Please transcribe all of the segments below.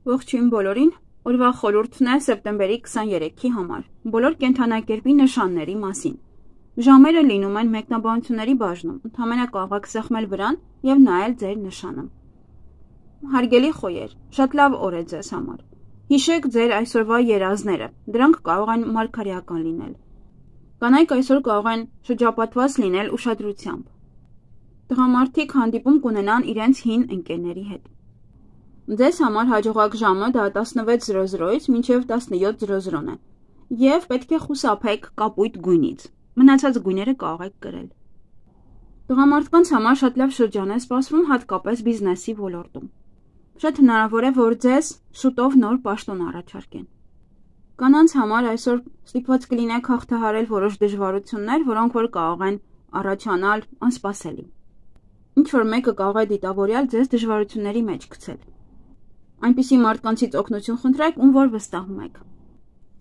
Ողջույն բոլորին, օրվա խորհուրդն է սեպտեմբերի 23-ի համար, բոլոր կենդանակերպի նշանների մասին։ Ժամերը լինում են մեկնաբանությունների բաժնում, ընդհանրապես կարող եք սեղմել վրան և նայել ձեր նշանը։ Հարգելի խոյեր, շատ լավ օր է ձեզ համար։ Հիշեք ձեր այսօրվա երազները, դրանք կարող են մարգարեական լինել։ Կանայք այսօր կարող են շրջապատված լինել ուշադրությամբ։ Տղամարդիկ հանդիպում կունենան իրենց հին ընկերների հետ։ Ձեզ համար հաջողակ ժամը դա 16:00-ից մինչև 17:00 է, և պետք է խուսափեք կապույտ գույնից, մնացած գույները կարող եք կրել։ Տղամարդկանց համար շատ լավ շրջան է սպասվում, հատկապես բիզնեսի ոլորտում։ Շատ հնարավոր է, որ ձեզ շուտով նոր պաշտոն առաջարկեն։ Կանանց համար այսօր ստիպված կլինեք հաղթահարել որոշ դժվարություններ, որոնք որ կարող են առաջանալ անսպասելի։ Ինչ-որ մեկը կարող է դիտավորյալ ձեզ դժվարությունների մեջ գցել։ Այնպիսի մարդկանցից օգնություն խնդրեք, ում որ վստահում եք։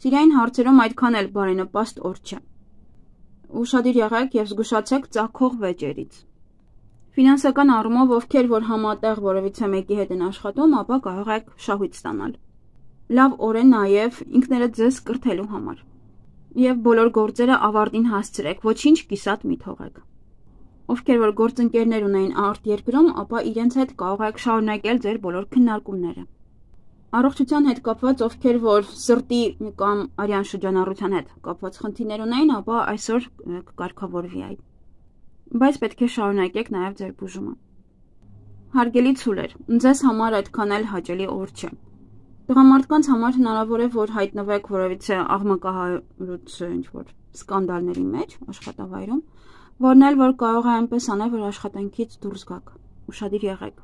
Սիրային հարցերում այդքան էլ բարենպաստ օր չէ։ Ուշադիր եղեք և զգուշացեք ծագող վեճերից։ Ֆինանսական առումով ովքեր որ համատեղ որևիցե մեկի հետ են աշխատում, ապա կարող եք շահույթ ստանալ։ Լավ օր է նաև ինքներդ ձեզ կրթելու համար։ Եվ բոլոր գործերը ավարտին հասցրեք, ոչինչ կիսատ մի թողեք։ Ովքեր որ գործընկերներ ունեն արտերկրում, ապա իրենց հետ կարող եք շարունակել ձեր բոլոր քննարկումները։ Առողջության հետ կապված ովքեր որ սրտի կամ արյան շրջանառության հետ կապված խնդիրներ ունեն, ապա այսօր կկարգավորվի այդ։ Բայց պետք է շարունակեք նաև ձեր բուժումը։ Հարգելի ցուլեր, ձեզ համար այդքան էլ հաճելի օր չէ։ Տղամարդկանց համար հնարավոր է, որ հայտնվեք որևիցե աղմկահարույց ինչ-որ սկանդալների մեջ աշխատավայրում, որն էլ որ կարող է այնպես անել, որ աշխատանքից դուրս գաք, ուշադիր եղեք։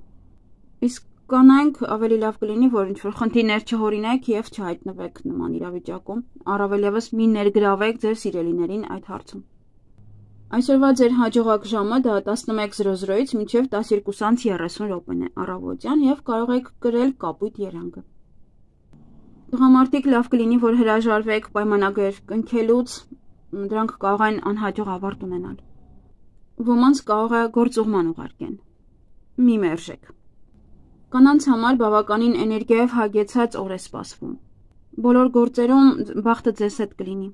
Իսկ կանայք ավելի լավ կլինի, որ ինչ-որ խնդիրներ չհորինեք և չհայտնվեք նման իրավիճակում, առավել ևս մի ներգրավեք ձեր սիրելիներին այդ հարցում։ Այսօրվա ձեր հաջողակ ժամը դա 11:00-ից մինչև 12:30 է առավոտյան և կարող եք կրել կապույտ երանգը։ Տղամարդիկ լավ կլինի, որ հրաժարվեք պայմանագրեր կնքելուց, դրանք կարող են անհաջող ավարտ ունենալ։ Ոմանց կարող է գործուղման ուղարկեն։ Մի մերժեք։ Կանանց համար բավականին էներգիայով հագեցած օր է սպասվում։ Բոլոր գործերում բախտը ձեզ հետ կլինի։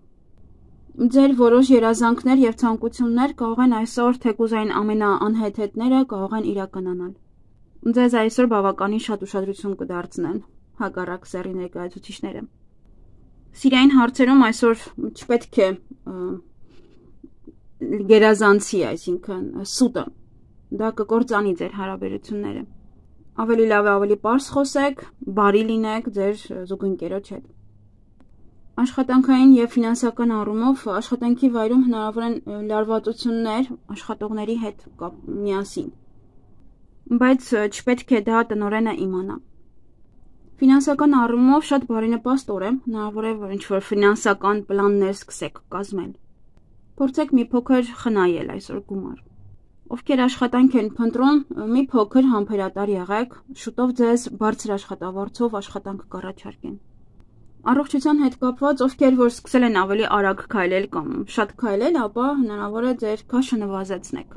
Ձեր որոշ երազանքներ և ցանկություններ կարող են այսօր թեկուզ այն ամենաանհեթեթները կարող են իրականանալ։ Ձեզ այսօր բավականին շատ ուշադրություն կդարձնեն հակառակ սեռի ներկայացուցիչները։ Սիրային հարցերում այսօր չպետք է գերազանցի, այսինքն սուտը, դա կկործանի ձեր հարաբերությունները։ Ավելի լավ է ավելի պարզ խոսեք, բարի լինեք ձեր զուգընկերոջ հետ։ Աշխատանքային և ֆինանսական առումով աշխատանքի վայրում հնարավոր են լարվածություններ աշխատողների հետ միասին, բայց չպետք է դա տնօրենը իմանա։ Ֆինանսական առումով շատ բարենպաստ օր է, հնարավոր է, որ ինչ-որ ֆինանսական պլաններ սկսեք կազմել։ Փորձեք մի փոքր խնայել այսօր գումար։ Ովքեր աշխատանք են փնտրում, մի փոքր համբերատար եղեք, շուտով ձեզ բարձր աշխատավարձով աշխատանք կառաջարկեն։ Առողջության հետ կապված, ովքեր որ սկսել են ավելի արագ քայլել կամ շատ քայլել, ապա հնարավոր է ձեր քաշը նվազեցնեք։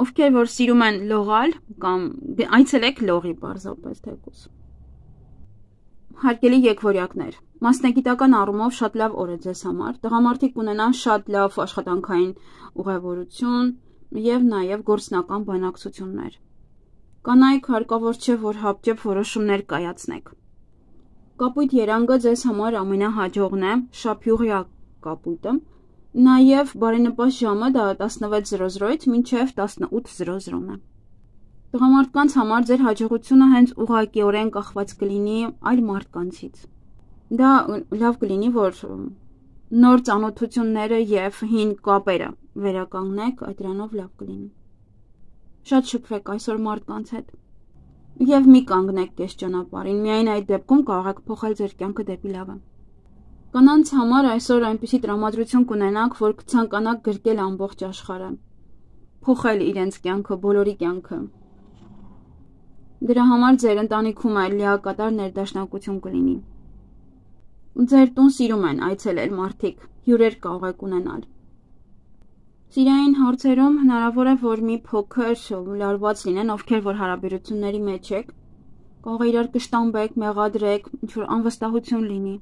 Ովքեր որ սիրում են լողալ կամ այցելեք լողի պարզապես թեկուզ։ Հարգելի եկվորյակներ, մասնագիտական առումով շատ լավ օր է ձեզ համար, տղամարդիկ կունենան շատ լավ աշխատանքային ուղևորություն և նաև գործնական բանակցություններ։ Կանայք հարկավոր չէ, որ հապճեպ որոշումներ կայացնեք։ Կապույտ երանգը ձեզ համար ամենահաջողն է, շափյուղյա կապույտը, նաև բարենպաստ ժամը դա 16:00-ից մինչև 18:00 է։ Տղամարդկանց համար ձեր հաջողությունը հենց ուղղակիորեն կախված կլինի այլ մարդկանցից։ Դա լավ կլինի, որ նոր ծանոթությունները և հին կապերը վերականգնեք, այդ դրանով լավ կլինի։ Շատ շփվեք այսօր մարդկանց հետ և մի կանգնեք կես ճանապարհին, միայն այդ դեպքում կարող եք փոխել ձեր կյանքը դեպի լավը։ Կանանց համար այսօր այնպիսի տրամադրություն կունենաք, որ կցանկանաք գրկել ամբողջ աշխարհը, փոխել իրենց կյանքը, բոլորի կյանքը։ Դրա համար ձեր ընտանիքում այլ լիակատար ներդաշնակություն կլինի։ Ձեր տուն սիրում են այցելել մարդիկ, հյուրեր կարող եք ունենալ։ Սիրային հարցերում հնարավոր է, որ մի փոքր լարված լինեն, ովքեր որ հարաբերությունների մեջ եք, կարող է իրար կշտամբեք, մեղադրեք, ինչ-որ անվստահություն լինի։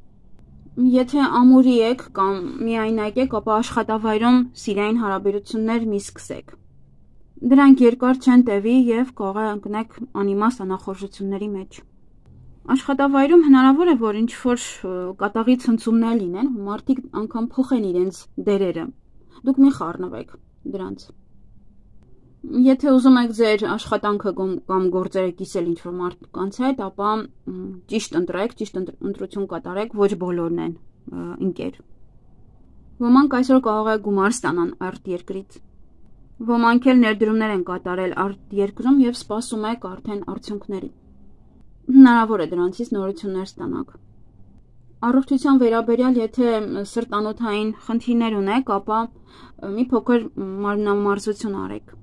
Եթե ամուրի եք կամ միայնակ եք, ապա աշխատավայրում սիրային հարաբերություններ մի սկսեք։ Դրանք երկար չեն տևի և կարող է ընկնեք անիմաստ անախորժությունների մեջ։ Աշխատավայրում հնարավոր է, որ ինչ-որ կատաղի ցնցումներ լինեն, մարդիկ անգամ փոխեն իրենց դերերը։ Դուք մի խառնվեք դրանց։ Եթե ուզում եք ձեր աշխատանքը կամ գործերը կիսել ինչ-որ մարդկանց հետ, ապա ճիշտ ընտրեք, ճիշտ ընտրություն կատարեք, ոչ բոլորն են ընկեր։ Ոմանք այսօր կարող է գումար ստանան արտերկրից։ Ոմանք էլ ներդրումներ են կատարել արտերկրում և սպասում եք արդեն արդյունքների։ Հնարավոր է դրանցից նորություններ ստանաք։ Առողջության վերաբերյալ, եթե սրտանոթային խնդիրներ ունեք, ապա մի փոքր մարմնամարզություն արեք։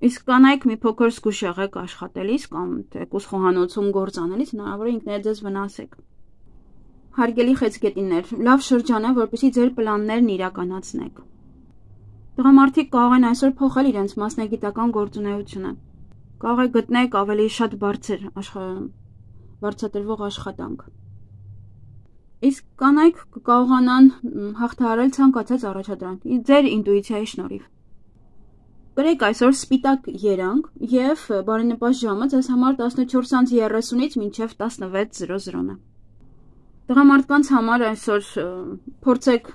Իսկ կանայք մի փոքր զգուշ եղեք աշխատելիս կամ թեկուզ խոհանոցում գործ անելիս, հնարավոր է ինքներդ ձեզ վնասեք։ Հարգելի խեցգետիններ, լավ շրջան է, որպեսզի ձեր պլաններն իրականացնեք։ Տղամարդիկ կարող են այսօր փոխել իրենց մասնագիտական գործունեությունը։ Կարող է գտնեք ավելի շատ բարձրատրվող աշխատանք։ Իսկ կանայք կկարողանան հաղթահարել ցանկացած առաջադրանք ձեր ինտուիցիայի շնորհիվ։ Կրեք այսօր սպիտակ երանգ և բարենպաստ ժամը ձեզ համար 14:30-ից մինչև 16:00-ն է։ Տղամարդկանց համար այսօր փորձեք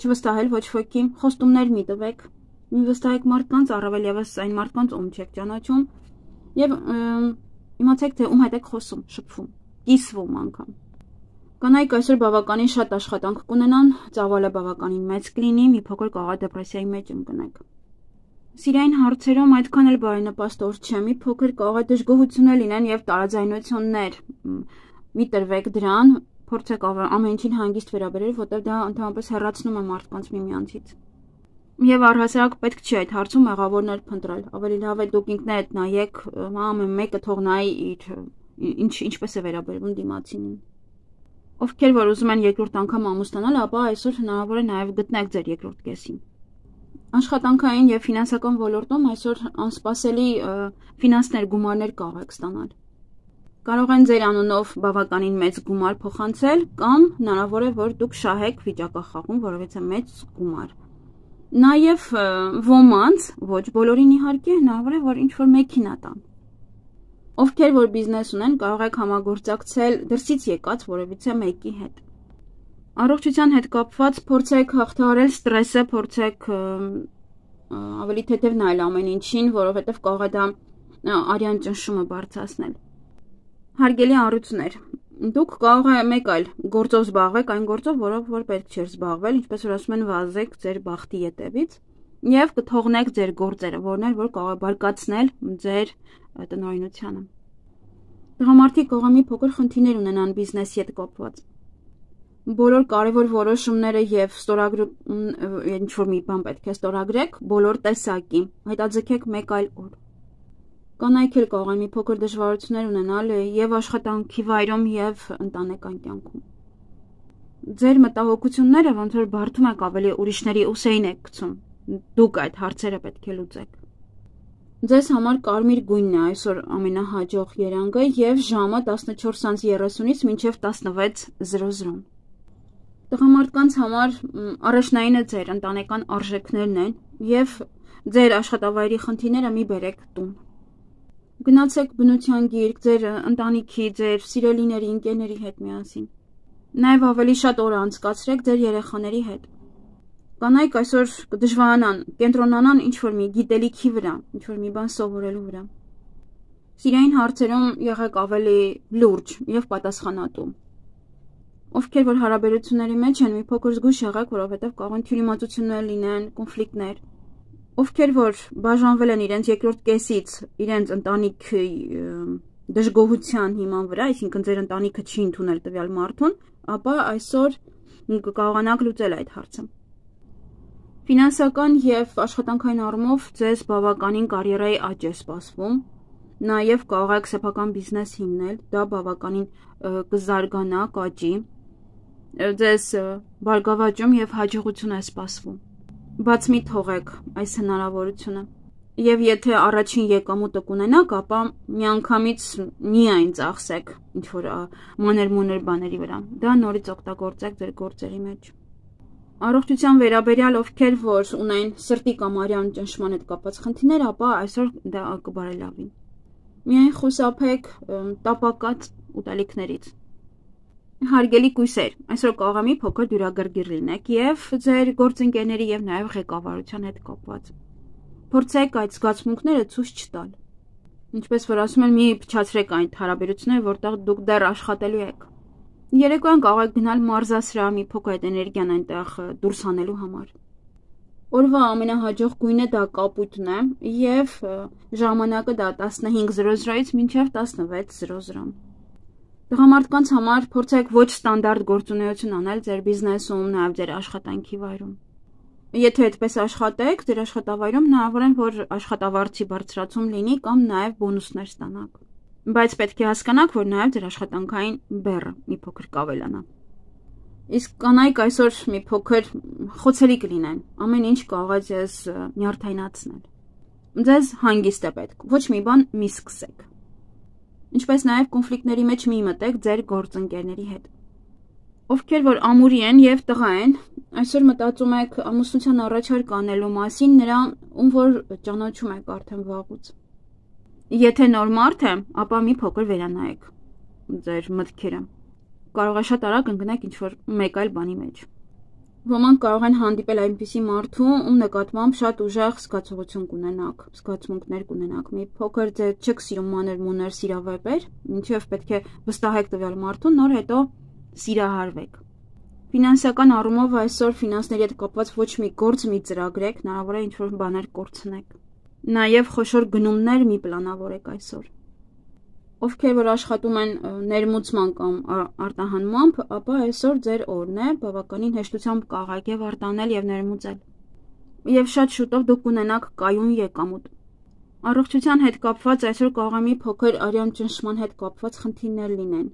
չվստահել ոչ ոքի, խոստումներ մի տվեք, մի վստահեք մարդկանց, առավել ևս այն մարդկանց, ում չեք ճանաչում, և իմացեք, թե ում հետ եք խոսում, շփվում, կիսվում անգամ։ Կանայք այսօր բավականին շատ աշխատանք կունենան, ծավալը բավականին մեծ կլինի, մի փոքր կարող է դեպրեսիայի մեջ ընկնեք։ Սիրային հարցերում այդքան էլ բարենպաստ օր չէ, մի փոքր կարող է դժգոհություններ լինեն և տարաձայնություններ։ Մի տրվեք դրան, փորձեք ամեն ինչին հանգիստ վերաբերել, որտեղ դա ընդհանրապես հեռացնում է մարդկանց միմյանցից։ Եվ առհասարակ պետք չի այդ հարցում մեղավորներ փնտրել։ Ավելի լավ է դուք ինքներդ նայեք, ամեն մեկը թող նայի ինչպես է վերաբերվում դիմացինին։ Ովքեր որ ուզում են երկրորդ անգամ ամուսնանալ, ապա այսօր հնարավոր է նաև գտնեք ձեր երկրորդ կեսին։ Աշխատանքային և ֆինանսական ոլորտում այսօր անսպասելի ֆինանսներ, գումարներ կարող եք ստանալ։ Կարող են ձեր անունով բավականին մեծ գումար փոխանցել կամ հնարավոր է, որ դուք շահեք վիճակախաղում որովհետև մեծ գումար։ Նաև ոմանց, ոչ բոլորին իհարկե, հնարավոր է, որ ինչ-որ մեքենա տան։ Ովքեր որ բիզնես ունեն, կարող եք համագործակցել դրսից եկած որևիցե մեկի հետ։ Առողջության հետ կապված փորձեք հաղթահարել ստրեսը, փորձեք ավելի թեթև նայել ամեն ինչին, որովհետև կարող է դա արյան ճնշումը բարձրացնել։ Հարգելի առույցներ, դուք կարող է մեկ այլ գործով զբաղվեք, այն գործով, որով որ պետք չէր զբաղվել, ինչպես որ ասում են, վազեք ձեր բախտի ետևից և կթողնեք ձեր գործերը, որներ որ կարող է բարկացնել ձեր տնօրինությանը։ Տղամարդիկ կարող է մի փոքր խնդիրներ ունենան բիզնեսի հետ կապված։ Բոլոր կարևոր որոշումները և ինչ-որ մի բան պետք է ստորագրեք, բոլոր տեսակի, հետաձգեք մեկ այլ օր։ Կանայք էլ կարող են մի փոքր դժվարություններ ունենալ և աշխատանքի վայրում և ընտանեկան կյանքում։ Ձեր մտահոգությունները ոնց որ բարդում եք ավելի ուրիշների ուսերին եք գցում, դուք այդ հարցերը պետք է լուծեք։ Ձեզ համար կարմիր գույնն է այսօր ամենահաջող երանգը և ժամը 14:30-ից մինչև 16:00։ Տղամարդկանց համար առաջնայինը ձեր ընտանեկան արժեքներն են և ձեր աշխատավայրի խնդիրները մի բերեք տուն։ Գնացեք բնության գիրք, ձեր ընտանիքի, ձեր սիրելիների, ընկերների հետ միասին։ Նաև ավելի շատ օր անցկացրեք ձեր երեխաների հետ։ Կանայք այսօր կդժվարանան, կենտրոնանան ինչ-որ մի գիտելիքի վրա, ինչ-որ մի բան սովորելու վրա։ Սիրային հարցերում եղեք ավելի լուրջ և պատասխանատու։ Ովքեր որ հարաբերությունների մեջ են, մի փոքր զգույշ եղեք, որովհետև կարող են թյուրիմացություններ լինեն, կոնֆլիկտներ։ Ովքեր որ բաժանվել են իրենց երկրորդ կեսից, իրենց ընտանիքի դժգոհության հիման վրա, այսինքն ձեր ընտանիքը չի ընդունել տվյալ մարդուն, ապա այսօր կկարողանաք լուծել այդ հարցը։ Ֆինանսական և աշխատանքային առումով ձեզ բավականին կարիերայի աճ է սպասվում, նաև կարող եք սեփական բիզնես հիմնել, դա բավականին կզարգանա, կաճի, ձեզ բարգավաճում և հաջողություն է սպասվում։ Բաց մի թողեք այս հնարավորությունը։ Եվ եթե առաջին եկամուտը կունենաք, ապա միանգամից միայն ծախսեք ինչ-որ մանր-մունր բաների վրա։ Դա նորից օգտագործեք ձեր գործերի մեջ։ Առողջության վերաբերյալ ովքեր որ ունեն սրտի կամ արյան ճնշման հետ կապված խնդիրներ, ապա այսօր դա կբարելավի։ Միայն խուսափեք տապակած ուտելիքներից։ Հարգելի կույսեր, այսօր կարող է մի փոքր դյուրագրգիռ լինեք եւ ձեր գործընկերների եւ նաեւ ղեկավարության հետ կապված։ Փորձեք այդ զգացմունքները ցույց չտալ։ Ինչպես որ ասում են, մի փչացրեք այն հարաբերությունները, որտեղ դուք դեռ աշխատելու եք։ Երեկոյան կարող եք գնալ մարզասրահ մի փոքր այդ էներգիան այնտեղ դուրս հանելու համար։ Օրվա ամենահաջող գույնը դա կապույտն է եւ ժամանակը դա 15:00-ից մինչեւ 16:00։ Տղամարդկանց համար փորձեք ոչ ստանդարտ գործունեություն անել ձեր բիզնեսում, նաեւ ձեր աշխատանքի վայրում։ Եթե այդպես աշխատեք, ձեր աշխատավայրում հնարավոր է, որ աշխատավարձի բարձրացում լինի կամ նաև բոնուսներ ստանաք։ Բայց պետք է հասկանաք, որ նաև ձեր աշխատանքային բեռը մի փոքր կավելանա։ Իսկ կանայք այսօր մի փոքր խոցելի կլինեն, ամեն ինչ կարող է ձեզ նյարդայնացնել։ Ձեզ հանգիստ է պետք, ոչ մի բան մի սկսեք։ Ինչպես նաև կոնֆլիկտների մեջ մի մտեք ձեր գործընկերների հետ։ Ովքեր որ ամուրի են եւ տղա են, այսօր մտածում եք ամուսնության առաջարկ անելու մասին նրան, ում որ ճանաչում եք արդեն վաղուց։ Եթե նոր մարդ է, ապա մի փոքր վերանայեք ձեր մտքերը։ Կարող է շատ արագ ընկնեք ինչ-որ մեկ այլ բանի մեջ։ Ոմանք կարող են հանդիպել այնպիսի մարդու, ում նկատմամբ շատ ուժեղ զգացողություն կունենաք, զգացմունքներ կունենաք։ Մի փոքր ձեր չեք սիրում մանր-մունր սիրավեպեր, ինչեւ պետք է վստահեք տվյալ մարդուն, նոր հետո սիրահարվեք։ Ֆինանսական առումով այսօր ֆինանսների հետ կապված ոչ մի գործ մի ծրագրեք, հնարավոր է ինչ-որ բաներ կորցնեք։ Նաև խոշոր գնումներ մի պլանավորեք այսօր։ Ովքեր որ աշխատում են ներմուծման կամ արտահանմամբ, ապա այսօր ձեր օրն է, բավականին հեշտությամբ կարող եք արտանել եւ ներմուծել։ Եվ շատ շուտով դուք կունենաք կայուն եկամուտ։ Առողջության հետ կապված այսօր կարող է մի փոքր արյան ճնշման հետ կապված խնդիրներ լինեն։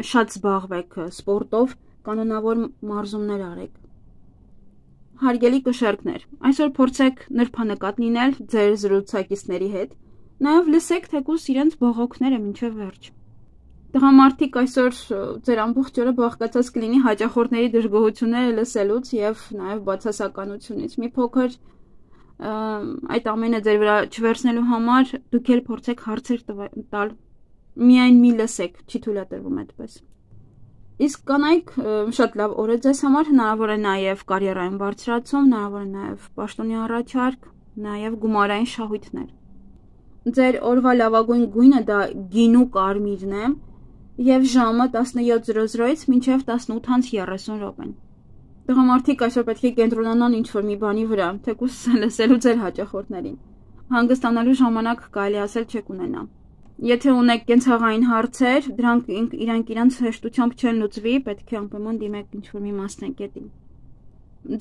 Շատ զբաղվեք սպորտով, կանոնավոր մարզումներ արեք։ Հարգելի կշեռքներ, այսօր փորձեք նրբանկատ լինել ձեր զրուցակիցների հետ, նաև լսեք թեկուզ իրենց բողոքները մինչև վերջ։ Տղամարդիկ այսօր ձեր ամբողջ օրը բաղկացած կլինի հաճախորդների դժգոհությունները լսելուց եւ նաև բացասականությունից։ Մի փոքր այդ ամենը ձեր վրա չվերցնելու համար դուք էլ փորձեք հարցեր տալ։ Միայն մի լսեք, չի թույլատրվում այդպես։ Իսկ կանայք շատ լավ օր է ձեզ համար, հնարավոր է նաև կարիերային բարձրացում, հնարավոր է նաև պաշտոնի առաջարկ, նաև գումարային շահույթներ։ Ձեր օրվա լավագույն գույնը դա գինու կարմիրն է եւ ժամը 17:00-ից մինչեւ 18:30 րոպեն։ Տղամարդիկ այսօր պետք է կենտրոնանան ինչ-որ մի բանի վրա, թեկուզ լսելու ձեր հաճախորդներին։ Հանգստանալու ժամանակ կարելի ասել չեք ունենա։ Եթե ունեք կենցաղային հարցեր, դրանք իրանք հեշտությամբ չեն լուծվի, պետք է անպայման դիմեք ինչ-որ մի մասնագետի։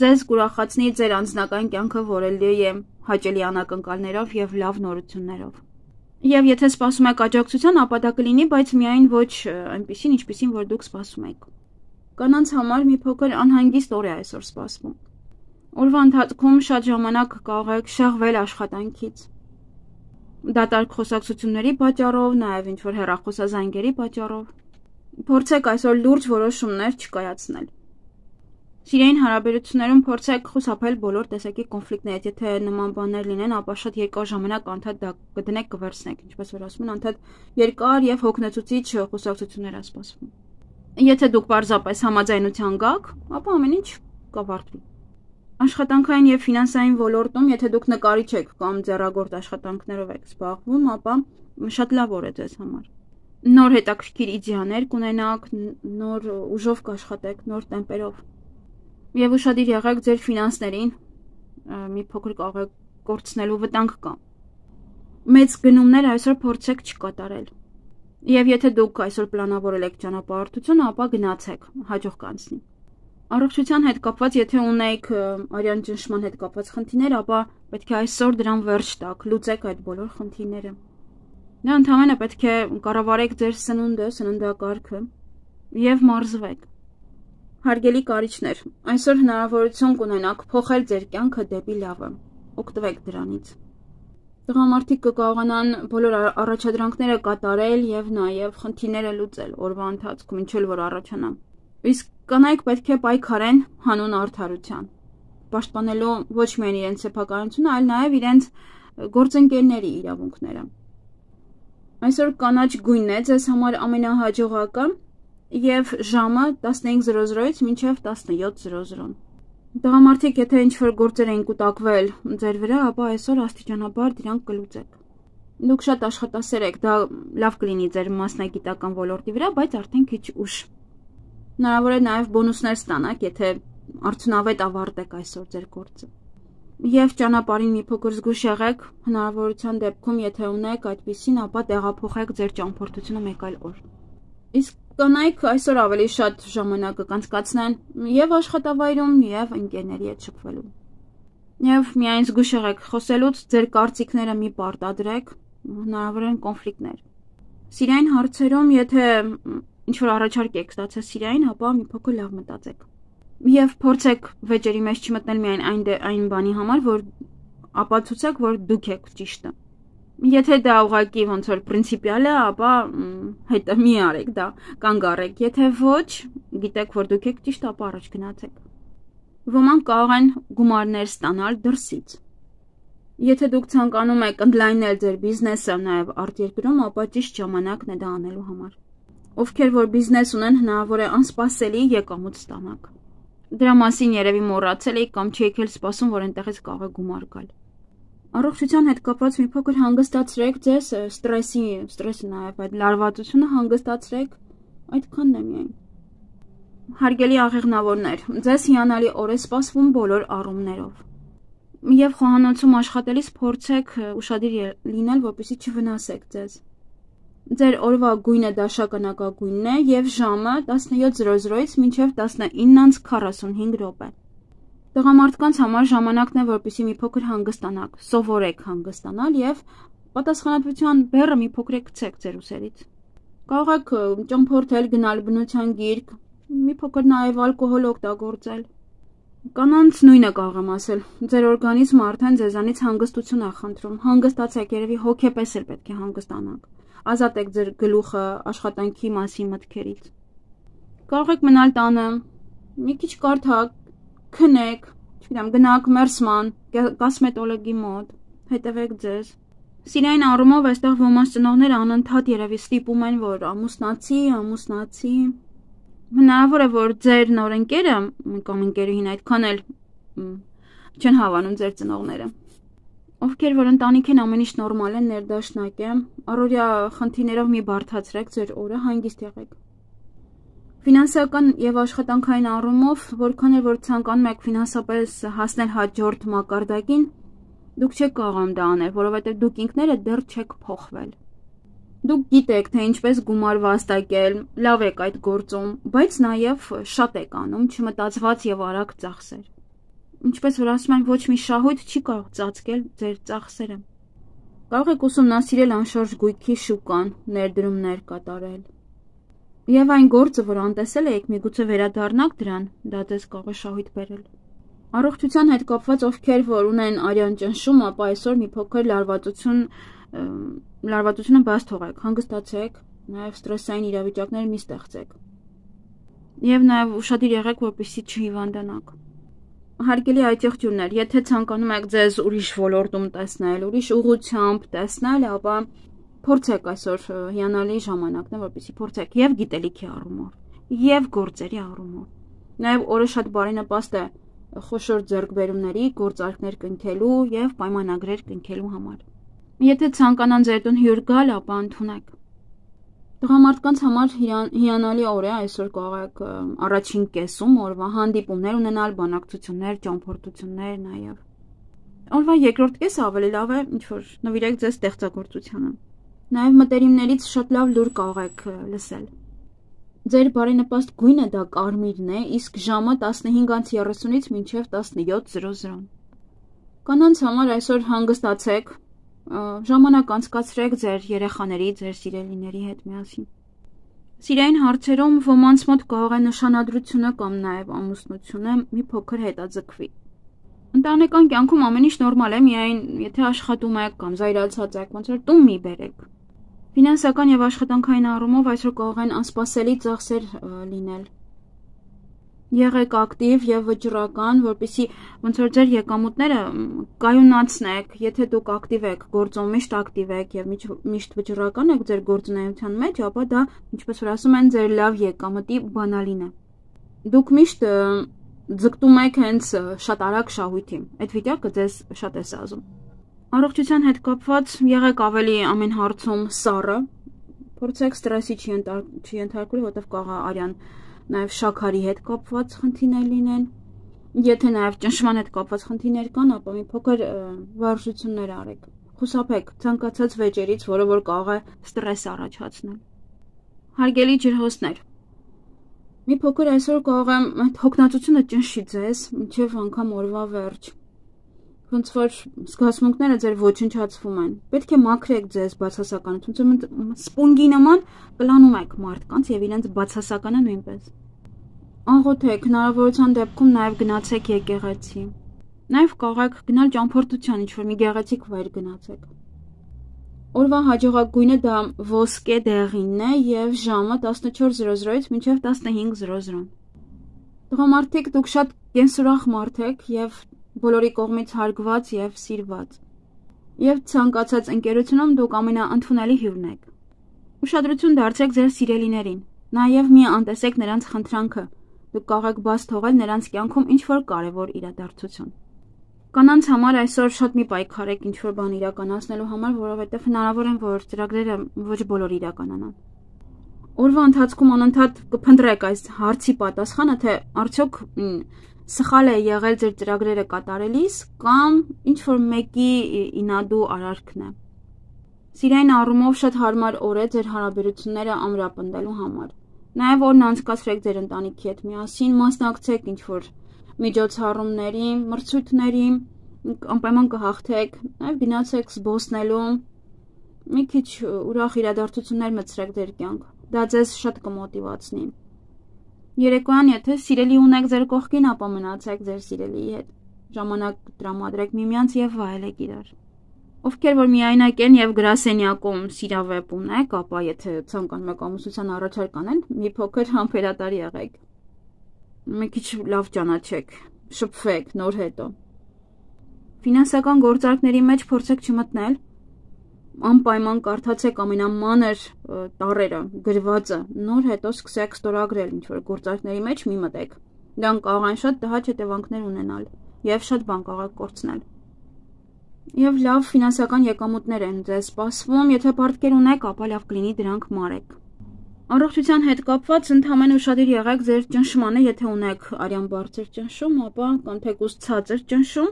Ձեզ կուրախացնի ձեր անձնական կյանքը, որը լի է հաճելի անակնկալներով եւ լավ նորություններով։ Եվ եթե սպասում եք աջակցության, ապա դա կլինի, բայց միայն ոչ այնպեսին, ինչպեսին որ դուք սպասում եք։ Կանանց համար մի փոքր անհանգիստ օր է այսօր սպասվում։ Օրվա ընթացքում շատ ժամանակ կարող եք շեղվել աշխատանքից։ Դատարկ խոսակցությունների պատճառով, նաև ինչ-որ հեռախոսազանգերի պատճառով։ Փորձեք այսօր լուրջ որոշումներ չկայացնել։ Սիրային հարաբերություններում փորձեք խուսափել բոլոր տեսակի կոնֆլիկտներից, եթե նման բաներ լինեն, ապա շատ երկար ժամանակ անդադ դա կդնեք կվերցնեք, ինչպես որ ասում են, անդադ երկար եւ հոգնեցուցիչ խոսակցություններ է սպասվում։ Եթե դուք պարզապես համաձայնության գաք, ապա ամեն ինչ կավարտվի։ Աշխատանքային եւ ֆինանսային ոլորտում, եթե դուք նկարիչ եք կամ ձեռագործ աշխատանքներով եք զբաղվում, ապա շատ լավ օր է ձեզ համար։ Նոր հետաքրքիր իդեաներ կունենաք, նոր ուժով կաշխատեք, նոր տեմպերով։ Եվ ուշադիր եղեք ձեր ֆինանսներին, մի փոքր կարող եք կորցնելու վտանգ կա։ Մեծ գնումներ այսօր փորձեք չկատարել։ Եվ եթե դուք այսօր պլանավորել եք ճանապարհորդություն, ապա գնացեք, հաջող կանցնի։ Առողջության հետ կապված, եթե ունեք արյան ճնշման հետ կապված խնդիրներ, ապա պետք է այսօր դրան վերջ տաք, լուծեք այդ բոլոր խնդիրները։ Դա ընդհանրապես պետք է կառավարեք ձեր սնունդը, սննդակարգը եւ մարզվեք։ Հարգելի կարիճներ, այսօր հնարավորություն կունենաք փոխել ձեր կյանքը դեպի լավը։ Օգտվեք դրանից։ Տղամարդիկ կկարողանան բոլոր առաջադրանքները կատարել եւ նաեւ խնդիրները լուծել օրվա ընթացքում, ինչ էլ որ առաջանա։ Իսկ կանայք պետք է պայքարեն հանուն արդարության, պաշտպանելու ոչ միայն իրենց սեփականությունը, այլ նաեւ իրենց գործընկերների իրավունքները։ Այսօր կանաչ գույնն է ձեզ համար ամենահաջողակը եւ ժամը 15:00-ից մինչեւ 17:00։ Տղամարդիկ, եթե ինչ-որ գործեր են կուտակվել ձեր վրա, ապա այսօր աստիճանաբար դրանք կլուծեք։ Դուք շատ աշխատասեր եք, դա լավ կլինի ձեր մասնագիտական ոլորտի վրա, բայց արդեն քիչ ուշ։ Հնարավոր է նաև բոնուսներ ստանաք, եթե արդյունավետ ավարտեք այսօր ձեր գործը։ Եվ ճանապարհին մի փոքր զգուշ եղեք, հնարավորության դեպքում, եթե ունեք այդպիսին, ապա տեղափոխեք ձեր ճամփորդությունը մեկ այլ օր։ Իսկ կանայք այսօր ավելի շատ ժամանակ կանցկացնեն եւ աշխատավայրում, եւ ընկերների հետ շփվելուն։ Եվ միայն զգուշ եղեք խոսելուց, ձեր կարծիքները մի պարտադրեք, հնարավոր են կոնֆլիկտներ։ Սիրային հարցերում, եթե ինչ-որ առաջարկ եք ստացել սիրային, ապա մի փոքր լավ մտածեք։ Եվ փորձեք վեճերի մեջ չմտնել միայն այն բանի համար, որ ապացուցեք, որ դուք եք ճիշտը։ Եթե դա ուղղակի ոնց որ պրինցիպիալ է, ապա հետը մի արեք դա, կանգ առեք։ Եթե ոչ, գիտեք, որ դուք եք ճիշտ, ապա առաջ գնացեք։ Ոմանք կարող են գումարներ ստանալ դրսից։ Եթե դուք ցանկանում եք ընդլայնել ձեր բիզնեսը նաև արտերկրում, ապա ճիշտ ժամանակն է դա անելու համար։ Ովքեր որ բիզնես ունեն, հնարավոր է անսպասելի եկամուտ ստանաք։ Դրա մասին երևի մոռացել եք կամ չեք էլ սպասում, որ այնտեղից կարող է գումար գալ։ Առողջության հետ կապված մի փոքր հանգստացրեք ձեզ, ստրեսը նաև այդ լարվածությունը հանգստացրեք, այդքանն է միայն։ Հարգելի աղեղնավորներ, ձեզ հիանալի օր է սպասվում բոլոր առումներով։ Եվ խոհանոցում աշխատելիս փորձեք ուշադիր լինել, որպեսզի չվնասեք ձեզ։ Ձեր օրվա գույնը դաշնականակագույնն է եւ ժամը 17:00-ից մինչեւ 19:45 րոպե։ Տղամարդկանց համար ժամանակն է, որպեսզի մի փոքր հանգստանաք, սովորեք հանգստանալ եւ պատասխանատվության բեռը մի փոքր գցեք ձեր ուսերից։ Կարող եք ճամփորդել, գնալ բնության գիրք, մի փոքր նաեւ ալկոհոլ օգտագործել։ Կանանց նույնը կարող եմ ասել։ Ձեր օրգանիզմը արդեն ձեզանից հանգստություն է խնդրում։ Հանգստացեք, երևի հոգեպես էլ պետք է հանգստանաք։ Ազատեք ձեր գլուխը աշխատանքի մասին մտքերից։ Կարող եք մնալ տանը, մի քիչ կարդաք, քնեք, չգիտեմ, գնաք մերսման, կոսմետոլոգի մոտ, հետևեք ձեզ։ Սիրային առումով այստեղ ոմանց ծնողները անընդհատ երևի ստիպում են, որ ամուսնացի։ Հնարավոր է, որ ձեր նոր ընկերը կամ ընկերուհին այդքան էլ չեն հավանում ձեր ծնողները։ Ովքեր որ ընտանիք են, ամեն ինչ նորմալ է, ներդաշնակ է, առօրյա խնդիրներով մի բարդացրեք ձեր օրը, հանգիստ եղեք։ Ֆինանսական եւ աշխատանքային առումով, որքան էլ որ ցանկանում եք ֆինանսապես հասնել հաջորդ մակարդակին, դուք չեք կարողանում դա անել, որովհետեւ դուք ինքներդ դեռ չեք փոխվել։ Դուք գիտեք, թե ինչպես գումար վաստակել, լավ եք այդ գործում, բայց նաեւ շատ եք անում չմտածված եւ արագ ծախսեր։ Ինչպես որ ասում են, ոչ մի շահույթ չի կարող ծածկել ձեր ծախսերը։ Կարող եք ուսումնասիրել անշարժ գույքի շուկան, ներդրումներ կատարել։ Եվ այն գործը, որ անտեսել եք, միգուցե վերադառնաք դրան, դա ձեզ կարող է շահույթ բերել։ Առողջության հետ կապված ովքեր որ ունեն արյան ճնշում, ապա այսօր մի փոքր լարվածությունը բաց թողեք, հանգստացեք, նաև ստրեսային իրավիճակներ մի ստեղծեք։ Եվ նաև ուշադիր եղեք, որպեսզի չհիվանդանաք։ Հարգելի այցեղջյուրներ, եթե ցանկանում եք ձեզ ուրիշ ոլորտում տեսնել, ուրիշ ուղղությամբ տեսնել, ապա փորձեք այսօր հիանալի ժամանակն է, որպեսզի փորձեք եւ գիտելիքի առումով, եւ գործերի առումով։ Նաև օրը շատ բարենպաստ է խոշոր ձեռքբերումների, գործարքներ կնքելու եւ պայմանագրեր կնքելու համար։ Եթե ցանկանան ձեր տուն հյուր գալ, ապա ընդունեք։ Տղամարդկանց համար հիանալի օր է, այսօր կարող եք առաջին կեսում օրվա հանդիպումներ ունենալ, բանակցություններ, ճամփորդություններ նաև։ Օրվա երկրորդ կեսը ավելի լավ է, ինչ որ նվիրեք ձեզ ստեղծագործությանը։ Նաև մտերիմներից շատ լավ լուր կարող եք լսել։ Ձեր բարենպաստ գույնը դա կարմիրն է, իսկ ժամը 15:30-ից մինչև 17:00։ Կանանց համար այսօր հանգստացեք, ժամանակ անցկացրեք ձեր երեխաների, ձեր սիրելիների հետ միասին։ Սիրային հարցերում ոմանց մոտ կարող է նշանադրությունը կամ նաև ամուսնությունը մի փոքր հետաձգվի։ Ընտանեկան կյանքում ամեն ինչ նորմալ է, միայն եթե աշխատում եք կամ զայրացած եք, ոնց որ տուն մի բերեք։ Ֆինանսական եւ աշխատանքային առումով այսօր կարող են անսպասելի ծախսեր լինել։ Եղեք ակտիվ եւ վճռական, որպեսզի ոնց որ ձեր եկամուտները կայունացնեք, եթե դուք ակտիվ եք, գործում միշտ ակտիվ եք եւ միշտ վճռական եք ձեր գործունեության մեջ, ապա դա, ինչպես որ ասում են, ձեր լավ եկամտի բանալին է։ Դուք միշտ ձգտում եք հենց շատ արագ շահույթի։ Այդ վիճակը ձեզ շատ է սազում։ Առողջության հետ կապված եղեք ավելի ամեն հարցում սառը, փորձեք ստրեսի չենթարկվել, որտեղ կարող է արյան նաև շաքարի հետ կապված խնդիրներ լինեն։ Եթե նաև ճնշման հետ կապված խնդիրներ կան, ապա մի փոքր վարժություններ արեք։ Խուսափեք ցանկացած վեճերից, որը որ կարող է ստրես առաջացնել։ Հարգելի ջրհոսներ, մի փոքր այսօր կարող եմ այդ հոգնածությունը ճնշի ձեզ մինչև անգամ օրվա վերջ։ Ոնց որ զգացմունքները ձեր ոչնչացվում են։ Պետք է մաքրեք ձեզ բացասականություն, սպունգի նման կլանում եք մարդկանց եւ իրենց բացասականը նույնպես։ Աղոթեք, հնարավորության դեպքում նաեւ գնացեք եկեղեցի։ Նաեւ կարող եք գնալ ճամփորդության, ինչ որ մի գեղեցիկ վայր գնացեք։ Օրվա հաջողակ դա ոսկե դեղինն է եւ ժամը 14:00-ից մինչեւ 15:00։ Տղամարդիկ, դուք շատ կենսուրախ մարդ եք եւ բոլորի կողմից հարգված եւ սիրված։ Եվ ցանկացած ընկերությունում դուք ամենաընդունելի հյուրն եք։ Ուշադրություն դարձրեք ձեր սիրելիներին։ Նաեւ մի անտեսեք նրանց խնդրանքը։ Դուք կարող եք բաց թողել նրանց կյանքում ինչ-որ կարևոր իրադարձություն։ Կանանց համար այսօր շատ մի պայքարեք ինչ-որ բան իրականացնելու համար, որովհետեւ հնարավոր է, որ ծրագրերը ոչ բոլոր իրականանան։ Օրվա ընթացքում անընդհատ կփնտրեք այս հարցի պատասխանը, թե արդյոք սխալ է եղել ձեր ծրագրերը կատարելիս կամ ինչ-որ մեկի ինադու արարքն է։ Սիրային առումով շատ հարմար օր է ձեր հարաբերությունները ամրապնդելու համար։ Նաև օրն անցկացրեք ձեր ընտանիքի հետ միասին, մասնակցեք ինչ-որ միջոցառումների, մրցույթների, անպայման կհաղթեք, նաև գնացեք զբոսնելու, մի քիչ ուրախ իրադարձություններ մտցրեք ձեր կյանք, դա ձեզ շատ կմոտիվացնի։ Երեկոյան, եթե սիրելի ունեք ձեր կողքին, ապա մնացեք ձեր սիրելիի հետ, ժամանակ տրամադրեք միմյանց եւ վայելեք իրար։ Ովքեր որ միայնակ են եւ գրասենյակում սիրավեպ ունեք, ապա եթե ցանկանում եք ամուսնության առաջարկ անել, մի փոքր համբերատար եղեք։ Մի քիչ լավ ճանաչեք, շփվեք նոր հետո։ Ֆինանսական գործարքների մեջ փորձեք չմտնել, անպայման կարդացեք ամենամանր տառերը, գրվածը, նոր հետո սկսեք ստորագրել ինչ-որ գործարքների մեջ մի մտեք։ Դրան կարող են շատ տհաճ հետևանքներ ունենալ եւ շատ բան կարող կորցնել։ Եվ լավ ֆինանսական եկամուտներ են ձեզ սպասվում, եթե պարտքեր ունեք, ապա լավ կլինի դրանք մարեք։ Առողջության հետ կապված ընդհանրապես ուշադիր եղեք ձեր ճնշմանը, եթե ունեք արյան բարձր ճնշում, ապա կամ թեկուզ ցածր ճնշում,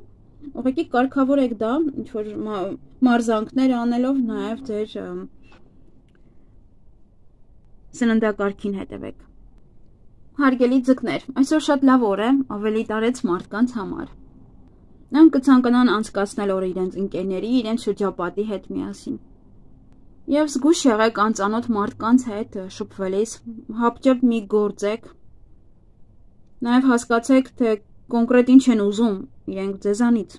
ուղղակի կարգավոր եք դա, ինչ որ մարզանքներ անելով նաև ձեր սննդակարգին հետևեք։ Հարգելի ձկներ, այսօր շատ լավ օր է, ավելի տարեց մարդկանց համար։ Նրանք կցանկանան անցկացնել օրը իրենց ընկերների, իրենց շրջապատի հետ միասին։ Եվ զգույշ եղեք անծանոթ մարդկանց հետ շփվելիս, հապճեպ մի գործեք։ Նաև հասկացեք, թե կոնկրետ ինչ են ուզում իրենք ձեզանից։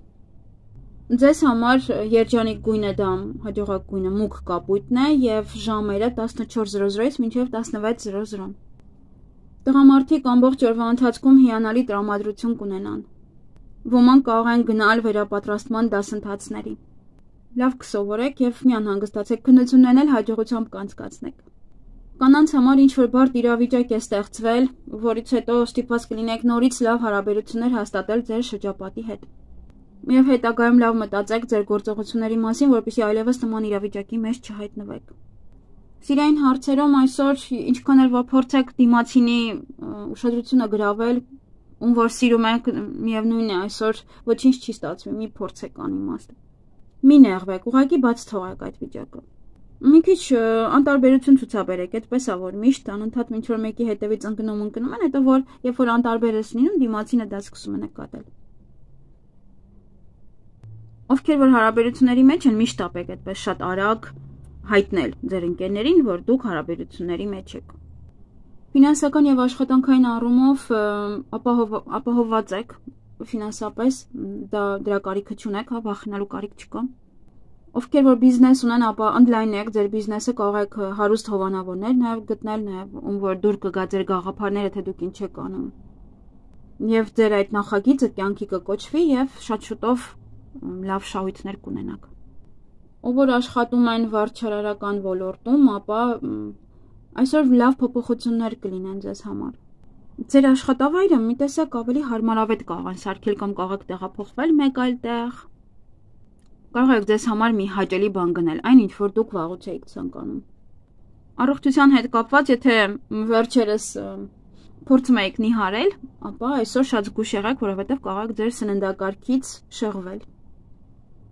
Ձեզ համար երջանիկ գույնը դա հաջողակ գույնը մուգ կապույտն է եւ ժամերը 14:00-ից մինչեւ 16:00։ Տղամարդիկ ամբողջ օրվա ընթացքում հիանալի տրամադրություն կունենան։ Ոմանք կարող են գնալ վերապատրաստման դասընթացների։ Լավ կսովորեք եւ մի անհանգստացեք, քննություններն էլ հաջողությամբ կանցկացնեք։ Կանանց համար ինչ-որ բարդ իրավիճակ է ստեղծվել, որից հետո ստիպված կլինեք նորից լավ հարաբերություններ հաստատել ձեր շրջապատի հետ։ Եվ հետագայում լավ մտածեք ձեր գործողությունների մասին, որպեսզի այլևս նման իրավիճակի մեջ չհայտնվեք։ Սիրային հարցերում այսօր ինչքան էլ փորձեք դիմացինի ուշադրությունը գրավել, ում որ սիրում եք, միևնույն է այսօր ոչինչ չի ստացվի, մի փորձեք անիմաստ։ Մի նեղվեք, ուղղակի բաց թողեք այդ վիճակը։ Մի քիչ անտարբերություն ցուցաբերեք, այդպես է որ միշտ անընդհատ ինչ որ մեկի հետևից ընկնում են, հետո որ երբ որ անտարբեր ես լինում, դիմացինը դա սկսում է նկատել։ Ովքեր որ հարաբերությունների մեջ են, միշտ ապեք այդպես շատ արագ հայտնել ձեր ընկերներին, որ դուք հարաբերությունների մեջ եք։ Ֆինանսական եւ աշխատանքային առումով ապահովված եք, ֆինանսապես դրա կարիքը չունեք, հա, վախենալու կարիք չկա։ Ովքեր որ բիզնես ունեն, ապա ընդլայնեք ձեր բիզնեսը, կարող եք հարուստ հովանավորներ նաև գտնել, նաև ում որ դուր կգա ձեր գաղափարները, թե դուք ինչ եք անում։ Եվ ձեր այդ նախագիծը կյանքի կկոչվի եւ շատ շուտով լավ շահույթներ կունենաք։ Ով որ աշխատում են վարչարարական ոլորտում, ապա այսօր լավ փոփոխություններ կլինեն ձեզ համար։ Ձեր աշխատավայրը մի տեսակ ավելի հարմարավետ կարող են սարքել կամ կարող եք տեղափոխվել մեկ այլ տեղ։ Կարող եք ձեզ համար մի հաճելի բան գնել, այն ինչ որ դուք վաղուց եք ցանկանում։ Առողջության հետ կապված, եթե վերջերս փորձում եք նիհարել, ապա այսօր շատ զգուշ եղեք, որովհետև կարող եք ձեր սննդակարգից շեղվել։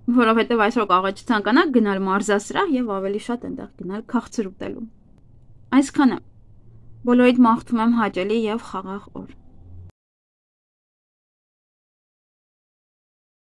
Որովհետև այսօր կարող եք չցանկանաք գնալ մարզասրահ եւ ավելի շատ այնտեղ գնալ քաղցր ուտելու։ Այսքանը։ Բոլորիդ մաղթում եմ հաճելի եւ խաղաղ օր։